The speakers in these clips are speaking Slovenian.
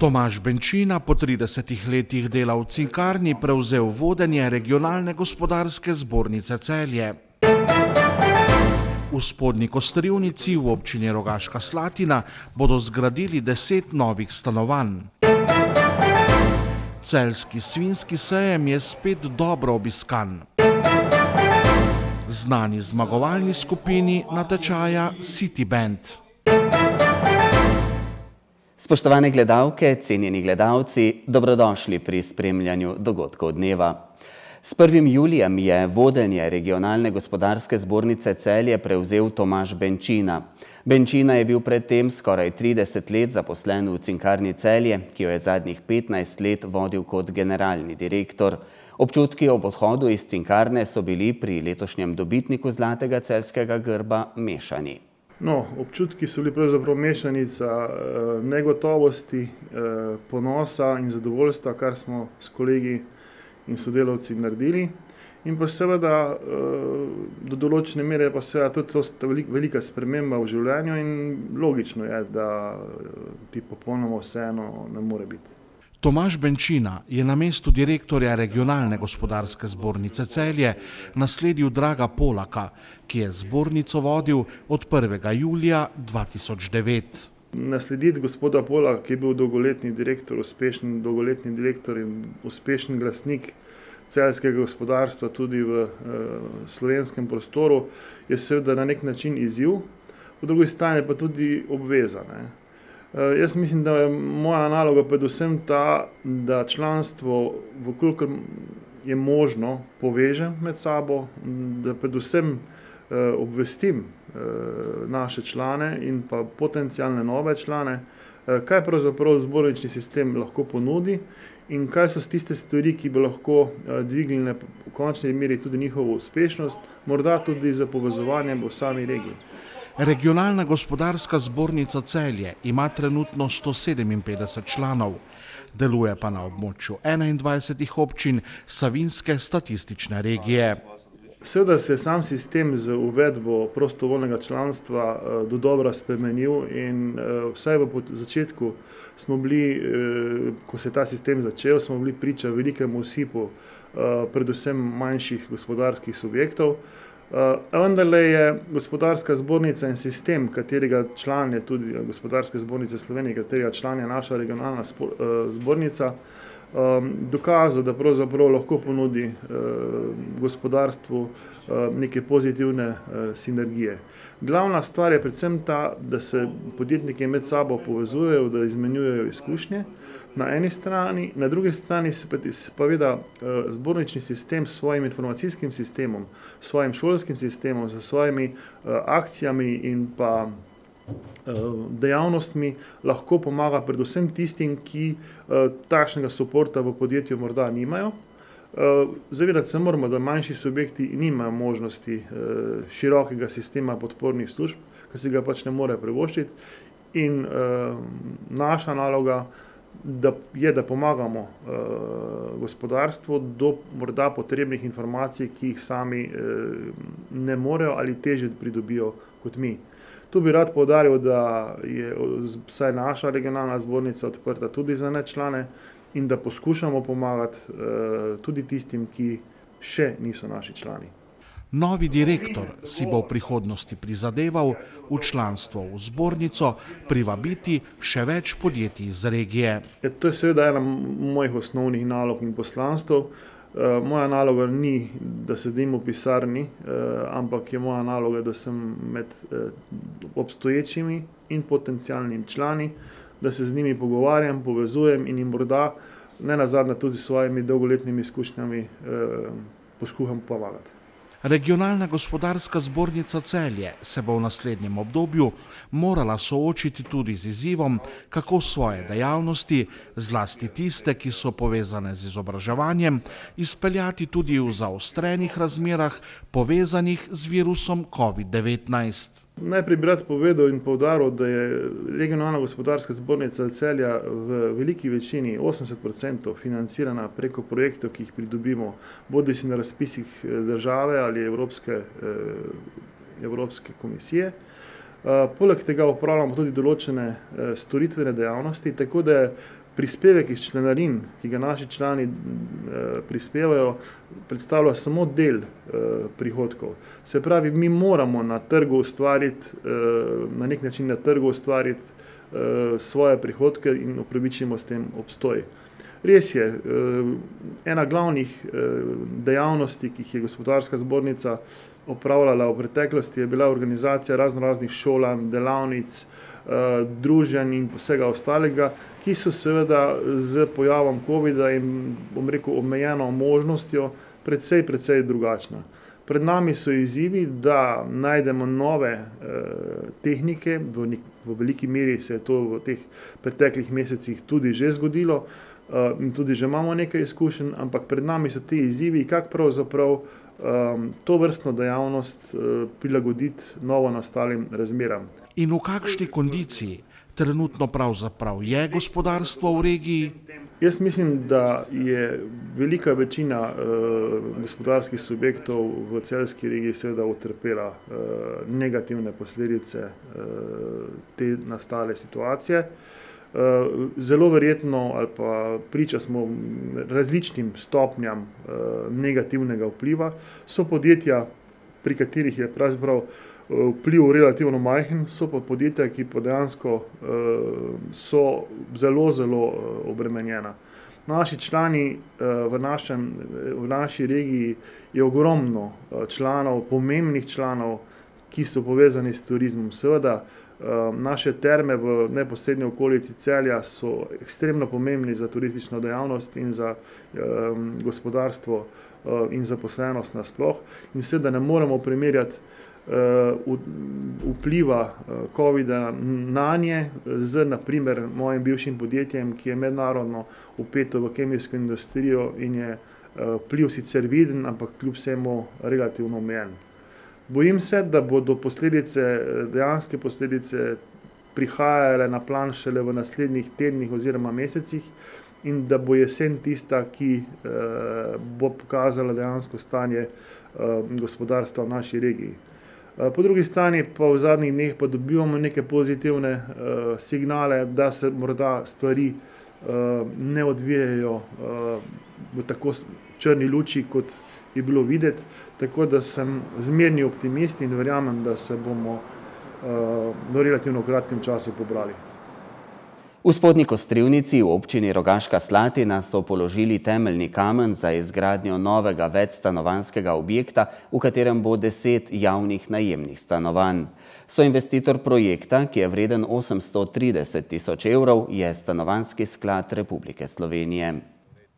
Tomaž Benčina po 30 letih dela v Cinkarni prevzel vodenje Regionalne gospodarske zbornice Celje. V Spodnji Kostrivnici v občini Rogaška Slatina bodo zgradili 10 novih stanovanj. Celjski svinjski sejem je spet dobro obiskan. Znani zmagovalni skupini natečaja City Band. Spoštovane gledalke, cenjeni gledalci, dobrodošli pri spremljanju dogodkov dneva. S 1. julijem je vodenje Regionalne gospodarske zbornice Celje prevzel Tomaž Benčina. Benčina je bil predtem skoraj 30 let zaposlen v Cinkarni Celje, ki jo je zadnjih 15 let vodil kot generalni direktor. Občutki ob odhodu iz Cinkarne so bili pri letošnjem dobitniku zlatega celjskega grba mešani. Občutki so bili pravzaprav mešanica negotovosti, ponosa in zadovoljstva, kar smo s kolegi in sodelavci naredili. In pa seveda do določene mere pa seveda tudi velika sprememba v življenju in logično je, da ti popolnoma vseeno ne more biti. Tomaž Benčina je na mestu direktorja Regionalne gospodarske zbornice Celje nasledil Draga Polaka, ki je zbornico vodil od 1. julija 2009. Naslediti gospoda Polaka, ki je bil dolgoletni direktor, uspešen dolgoletni direktor in uspešen glasnik celjskega gospodarstva tudi v slovenskem prostoru, je seveda na nek način izziv, po drugi strani pa tudi obveza. Jaz mislim, da je moja naloga predvsem ta, da članstvo, vkolikor je možno, povežem med sabo, da predvsem obvestim naše člane in pa potencialne nove člane, kaj pravzaprav zbornični sistem lahko ponudi in kaj so tiste stvari, ki bi lahko dvignile v končni meri tudi njihovo uspešnost, morda tudi za povezovanje v sami regiji. Regionalna gospodarska zbornica Celje ima trenutno 157 članov, deluje pa na območju 21 občin Savinjske statistične regije. Seveda se je sam sistem z uvedbo prostovoljnega članstva dodobra spremenil in vsaj v začetku smo bili, ko se je ta sistem začel, smo bili priča velikemu osipu predvsem manjših gospodarskih subjektov. Vendarle je gospodarska zbornica in sistem, katerega član je tudi Gospodarske zbornice Slovenije, katerega član je naša regionalna zbornica, dokazal, da pravzaprav lahko ponudi gospodarstvu neke pozitivne sinergije. Glavna stvar je predvsem ta, da se podjetniki med sabo povezujejo, da izmenjujejo izkušnje na eni strani, na drugi strani se pa veda zbornični sistem s svojim informacijskim sistemom, s svojim šolskim sistemom, s svojimi akcijami in pa dejavnostmi lahko pomaga predvsem tistim, ki takšnega suporta v podjetju morda nimajo. Zavedati se moramo, da manjši subjekti nimajo možnosti širokega sistema podpornih služb, ker si ga pač ne more privoščiti. In naša naloga je, da pomagamo gospodarstvu do morda potrebnih informacij, ki jih sami ne morejo ali težje pridobijo kot mi. Tu bi rad poudaril, da je vsaj naša regionalna zbornica odprta tudi za nečlane in da poskušamo pomagati tudi tistim, ki še niso naši člani. Novi direktor si bo v prihodnosti prizadeval v članstvo v zbornico privabiti še več podjetij iz regije. To je seveda ena mojih osnovnih nalog in poslanstv. Moja naloga ni, da sedim v pisarni, ampak je moja naloga, da sem med obstoječimi in potencialnimi člani, da se z njimi pogovarjam, povezujem in jim morda ne nazadnje tudi s svojimi dolgoletnimi izkušnjami poskušam pomagati. Regionalna gospodarska zbornica Celje se bo v naslednjem obdobju morala soočiti tudi z izzivom, kako svoje dejavnosti, zlasti tiste, ki so povezane z izobraževanjem, izpeljati tudi v zaostrenih razmerah povezanih z virusom COVID-19. Najprej bi rad povedal in poudaril, da je Regionalna gospodarska zbornica Celja v veliki večini, 80%, financirana preko projektov, ki jih pridobimo, bodisi na razpisih države ali Evropske komisije. Poleg tega opravljamo tudi določene storitvene dejavnosti, tako da je prispevek iz članarin, ki ga naši člani prispevajo, predstavlja samo del prihodkov. Se pravi, mi moramo na trgu ustvariti, na nek način na trgu ustvariti svoje prihodke in upravičimo s tem obstoj. Res je, ena glavnih dejavnosti, ki jih je Gospodarska zbornica opravljala v preteklosti, je bila organizacija raznoraznih šolanj, delavnic, druženj in vsega ostalega, ki so seveda z pojavom covida in, bom rekel, omejeno možnostjo precej drugačna. Pred nami so izzivi, da najdemo nove tehnike, v veliki meri se je to v teh preteklih mesecih tudi že zgodilo in tudi že imamo nekaj izkušenj, ampak pred nami so ti izzivi, kako pravzaprav to vrstno dejavnost prilagoditi novo nastalim razmeram. In v kakšni kondiciji trenutno pravzaprav je gospodarstvo v regiji? Jaz mislim, da je velika večina gospodarskih subjektov v celjski regiji seveda utrpela negativne posledice te nastale situacije. Zelo verjetno ali pa priča smo različnim stopnjam negativnega vpliva. So podjetja, pri katerih je pravzaprav vpliv relativno majhen, so pa podjetja, ki pa dejansko so zelo obremenjena. Naši člani v naši regiji je ogromno članov, pomembnih članov, ki so povezani s turizmom. Seveda, naše terme v neposrednji okolici Celja so ekstremno pomembni za turistično dejavnost in za gospodarstvo in zaposlenost nasploh. In seveda ne moremo primerjati vpliva covida nanje z, naprimer, mojim bivšim podjetjem, ki je mednarodno vpeto v kemijsko industrijo in je vpliv sicer viden, ampak kljub vsemu relativno omejen. Bojim se, da bodo dejanske posledice prihajale na plan šele v naslednjih tednih oziroma mesecih in da bo jesen tista, ki bo pokazala dejansko stanje gospodarstva v naši regiji. Po drugi strani pa v zadnjih dneh pa dobivamo neke pozitivne signale, da se morda stvari ne odvijajo v tako črni luči, kot je bilo videti, tako da sem zmerni optimist in verjamem, da se bomo v relativno kratkem času pobrali. V Spodnji Kostrivnici v občini Rogaška Slatina so položili temeljni kamen za izgradnjo novega večstanovanjskega objekta, v katerem bo 10 javnih najemnih stanovanj. Soinvestitor projekta, ki je vreden 830 tisoč evrov, je Stanovanjski sklad Republike Slovenije.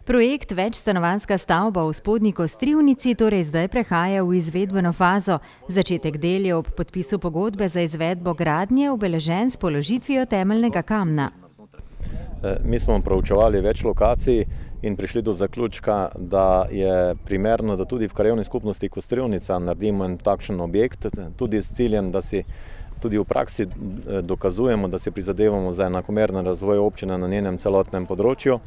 Projekt večstanovanjska stavba v Spodnji Kostrivnici torej zdaj prehaja v izvedbeno fazo. Začetek del je ob podpisu pogodbe za izvedbo gradnje obeležen s položitvijo temeljnega kamna. Mi smo proučevali več lokacij in prišli do zaključka, da je primerno, da tudi v krajevni skupnosti Kostrivnica naredimo en takšen objekt, tudi s ciljem, da si tudi v praksi dokazujemo, da si prizadevamo za enakomeren razvoj občine na njenem celotnem področju.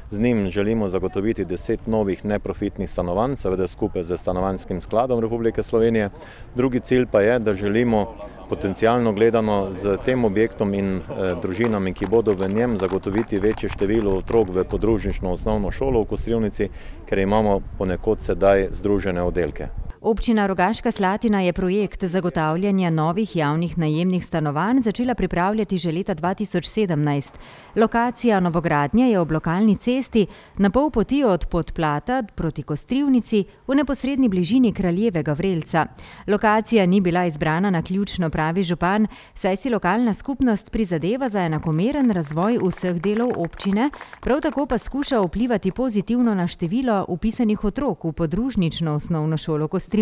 Z njim želimo zagotoviti 10 novih neprofitnih stanovanj, seveda skupaj z Stanovanjskim skladom Republike Slovenije. Drugi cilj pa je, da želimo potencialno gledano z tem objektom in družinami, ki bodo v njem, zagotoviti večje število otrok v podružnično osnovno šolo v Kostrivnici, ker imamo ponekod sedaj združene oddelke. Občina Rogaška Slatina je projekt zagotavljanja novih javnih najemnih stanovanj začela pripravljati že leta 2017. Lokacija novogradnje je ob lokalni cesti na pol poti od Podplata proti Kostrivnici v neposredni bližini Kraljevega vrelca. Lokacija ni bila izbrana naključno, pravi župan, saj si lokalna skupnost prizadeva za enakomeren razvoj vseh delov občine, prav tako pa skuša vplivati pozitivno na število vpisanih otrok v podružnično osnovno šolo Kostrivnica.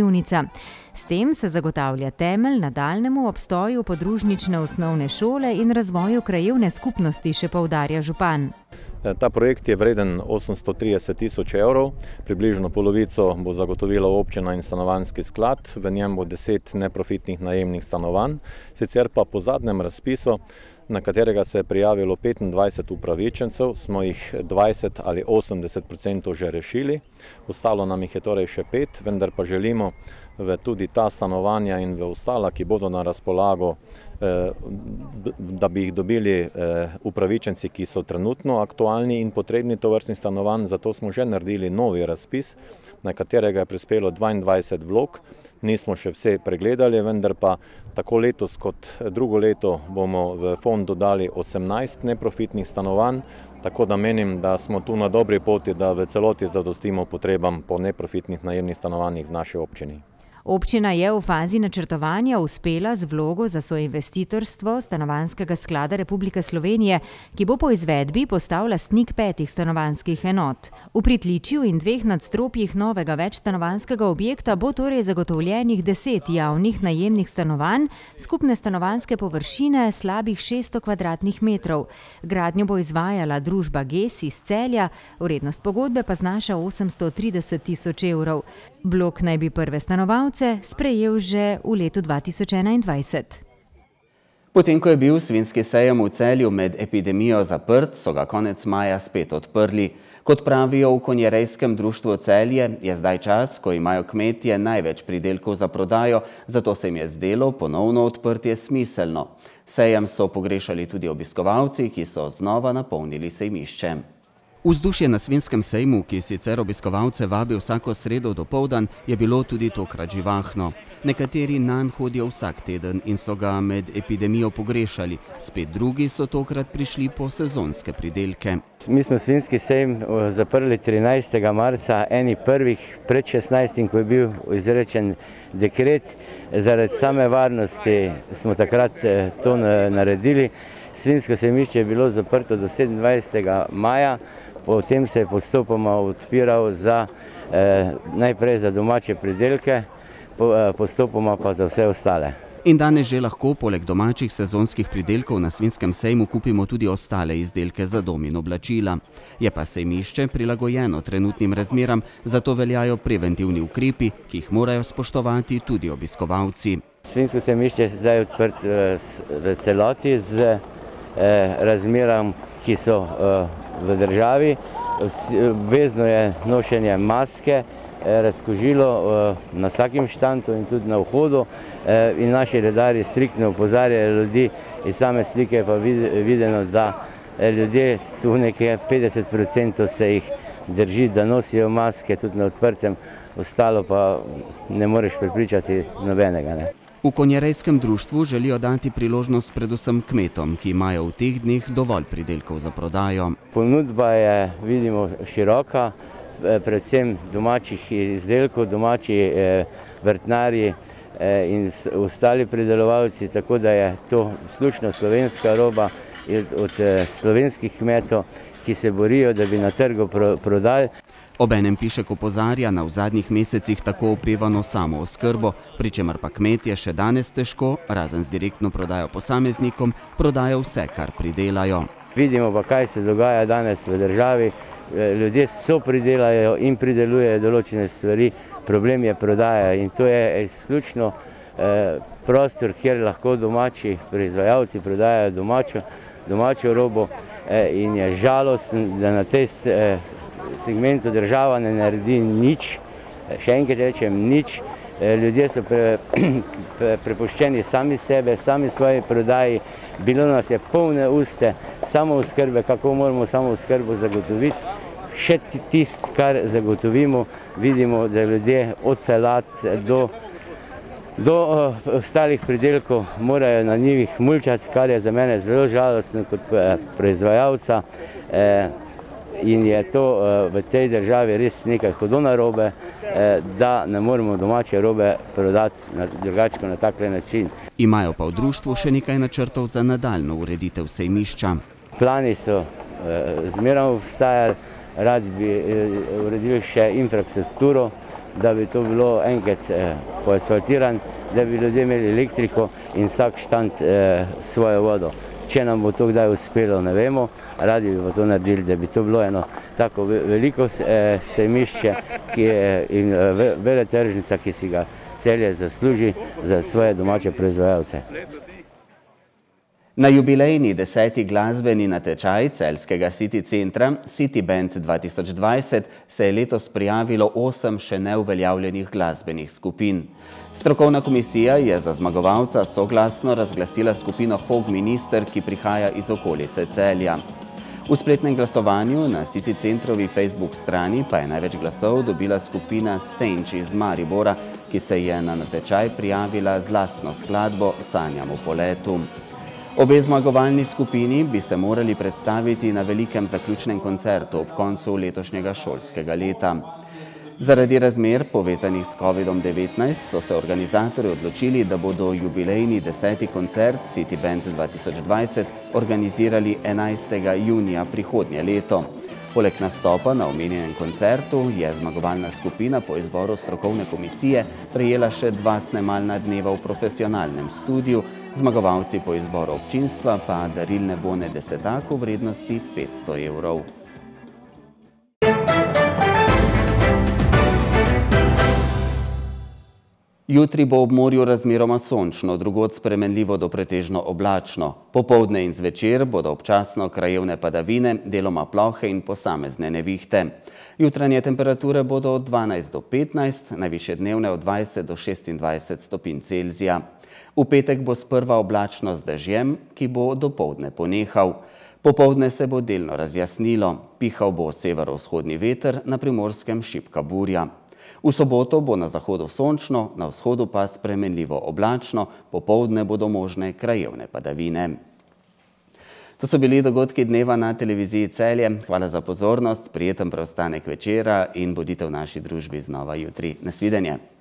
S tem se zagotavlja temelj nadaljnjemu obstoju podružnične osnovne šole in razvoju krajevne skupnosti, še poudarja župan. Ta projekt je vreden 830 tisoč evrov, približno polovico bo zagotovila občina in Stanovanjski sklad, v njem bo 10 neprofitnih najemnih stanovanj, sicer pa po zadnjem razpisu na katerega se je prijavilo 25 upravičencev, smo jih 20 ali 80% že rešili. Ostalo nam jih je torej še 5, vendar pa želimo v tudi ta stanovanja in v ostala, ki bodo na razpolago, da bi jih dobili upravičenci, ki so trenutno aktualni in potrebni tovrstnih stanovanj. Zato smo že naredili novi razpis, na katerega je prispelo 22 vlog. Nismo še vse pregledali, vendar pa tako letos kot drugo leto bomo v fond dodali 18 neprofitnih stanovanj, tako da menim, da smo tu na dobri poti, da v celoti zadostimo potrebam po neprofitnih najemnih stanovanjih v naši občini. Občina je v fazi načrtovanja uspela z vlogo za soinvestitorstvo Stanovanjskega sklada Republike Slovenije, ki bo po izvedbi postal lastnik 5 stanovanjskih enot. V pritličju in 2 nadstropjih novega večstanovanjskega objekta bo torej zagotovljenih 10 javnih najemnih stanovanj, skupne stanovanjske površine slabih 600 kvadratnih metrov. Gradnjo bo izvajala družba GES iz Celja, vrednost pogodbe pa znaša 830 tisoč evrov. Blok naj bi prve stanovalce sprejel že v letu 2021. Potem, ko je bil svinjski sejem v Celju med epidemijo zaprt, so ga konec maja spet odprli. Kot pravijo v Konjerejskem društvu Celje, je zdaj čas, ko imajo kmetje največ pridelkov za prodajo, zato se jim je zdelo ponovno odprtje smiselno. Sejem so pogrešali tudi obiskovalci, ki so znova napolnili sejmišče. Vzdušje na svinjskem sejmu, ki sicer obiskovalce vabi vsako sredo dopoldan, je bilo tudi tokrat živahno. Nekateri nanj hodijo vsak teden in so ga med epidemijo pogrešali, spet drugi so tokrat prišli po sezonske pridelke. Mi smo svinjski sejem zaprli 13. marca, eni prvih pred 16. ko je bil izrečen dekret. Zaradi same varnosti smo takrat to naredili. Svinjsko sejmišče je bilo zaprto do 27. maja. Potem se je postopoma odpiral najprej za domače pridelke, postopoma pa za vse ostale. In danes že lahko poleg domačih sezonskih pridelkov na svinjskem sejmu kupimo tudi ostale izdelke za dom in oblačila. Je pa sejmišče prilagojeno trenutnim razmeram, zato veljajo preventivni ukrepi, ki jih morajo spoštovati tudi obiskovalci. Svinjsko sejmišče je zdaj odprt v celoti z razmeram, ki so v državi. Obvezno je nošenje maske, razkužilo na vsakem štantu in tudi na vhodu. In naši redarji striktno opozarjajo ljudi, iz same slike pa videno, da ljudje, tu nekje 50% se jih drži, da nosijo maske tudi na odprtem, ostalo pa ne moreš prepričati nobenega. V Konjerejskem društvu želijo dati priložnost predvsem kmetom, ki imajo v teh dneh dovolj pridelkov za prodajo. Ponudba je, vidimo, široka, predvsem domačih izdelkov, domači vrtnarji in ostali pridelovalci, tako da je to izključno slovenska roba od slovenskih kmetov, ki se borijo, da bi na trgu prodali. Obenem Pišek opozarja na v zadnjih mesecih tako opevano samooskrbo, pri čemer pa kmetje še danes težko, razen z direktno prodajo posameznikom, prodajo vse, kar pridelajo. Vidimo pa, kaj se dogaja danes v državi. Ljudje so pridelajo in pridelujejo določene stvari, problem je prodaja in to je izključno prostor, kjer lahko domači proizvajalci prodajajo domačo robo in je žalostno, da na tej segmentu država ne naredi nič, še enkrat rečem nič. Ljudje so prepuščeni sami sebe, sami svoji prodaji. Bilo nas je polne uste samooskrbe, kako moramo samooskrbo zagotoviti. Še tisto, kar zagotovimo, vidimo, da ljudje od salat do ostalih pridelkov morajo na njivih mulčati, kar je za mene zelo žalostno kot proizvajalca. In je to v tej državi res nekaj hudo narobe, da ne moremo domače robe prodati drugače na tak način. Imajo pa v društvu še nekaj načrtov za nadaljnjo ureditev sejmišča. Plani so zmeraj obstajali, radi bi uredili še infrastrukturo, da bi to bilo enkrat poasfaltirano, da bi ljudje imeli elektriko in vsak štand svojo vodo. Če nam bo to kdaj uspelo, ne vemo, radi bi to naredili, da bi to bilo eno tako veliko sejmišče in veletržnica, ki si ga Celje zasluži za svoje domače proizvajalce. Na jubilejni 10. glasbeni natečaj celjskega City centra City Band 2020 se je letos prijavilo 8 še neuveljavljenih glasbenih skupin. Strokovna komisija je za zmagovalca soglasno razglasila skupino Hog Minister, ki prihaja iz okolice Celja. V spletnem glasovanju na City centrovi Facebook strani pa je največ glasov dobila skupina Stenč iz Maribora, ki se je na natečaj prijavila z lastno skladbo Sanjam o poletu. Obe zmagovalni skupini bi se morali predstaviti na velikem zaključnem koncertu ob koncu letošnjega šolskega leta. Zaradi razmer povezanih s COVID-19 so se organizatorji odločili, da bodo jubilejni 10. koncert City Band 2020 organizirali 11. junija prihodnje leto. Poleg nastopa na omenjenem koncertu je zmagovalna skupina po izboru strokovne komisije prejela še 2 snemalna dneva v profesionalnem studiu, zmagovalci po izboru občinstva pa darilne bone desetaku vrednosti 500 evrov. Jutri bo ob morju razmeroma sončno, drugod spremenljivo do pretežno oblačno. Popoldne in zvečer bodo občasno krajevne padavine, deloma plohe in posamezne nevihte. Jutranje temperature bodo od 12 do 15, najvišje dnevne od 20 do 26 stopinj Celzija. V petek bo sprva oblačno z dežjem, ki bo dopoldne ponehal. Popoldne se bo delno razjasnilo, pihal bo severovzhodni veter, na Primorskem šibka burja. V soboto bo na zahodu sončno, na vzhodu pa spremenljivo oblačno, popoldne bodo možne krajevne padavine. To so bili dogodki dneva na televiziji Celje. Hvala za pozornost, prijeten preostanek večera in bodite v naši družbi znova jutri. Nasvidenje.